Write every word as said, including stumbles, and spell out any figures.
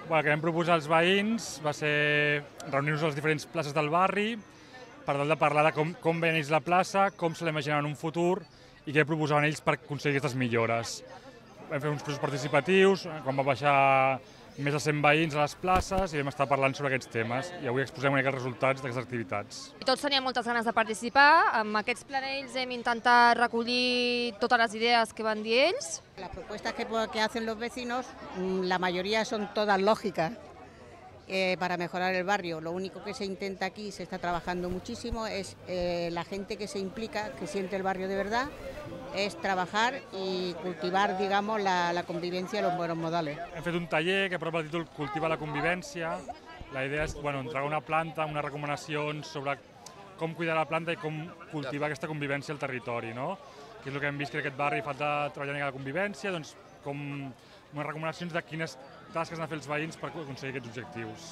El que vam proposar als veïns va ser reunir-nos a les diferents places del barri per tal de parlar de com, com veien ells la plaça, com se l'imaginaven en un futur i què proposaven ells per aconseguir aquestes millores. Vam fer uns processos participatius, quan va baixar més de cent veïns a les places i vam estar parlant sobre aquests temes i avui exposem una mica els resultats d'aquestes activitats. Tots teníem moltes ganes de participar, amb aquests planells hem intentat recollir totes les idees que van dir ells. Las propuestas que, que hacen los vecinos, la mayoría son todas lógicas eh, para mejorar el barrio. Lo único que se intenta aquí, se está trabajando muchísimo, es eh, la gente que se implica, que siente el barrio de verdad, es trabajar y cultivar, digamos, la, la convivencia y los buenos modales. Hem fet un taller que porta el títol Cultiva la convivència. La idea és bueno, entregar una planta, unes recomanacions sobre com cuidar la planta i com cultivar aquesta convivència al territori, no? Que és el que hem vist que en aquest barri falta treballar en la convivència, doncs com unes recomanacions de quines tasques han de fer els veïns per aconseguir aquests objectius.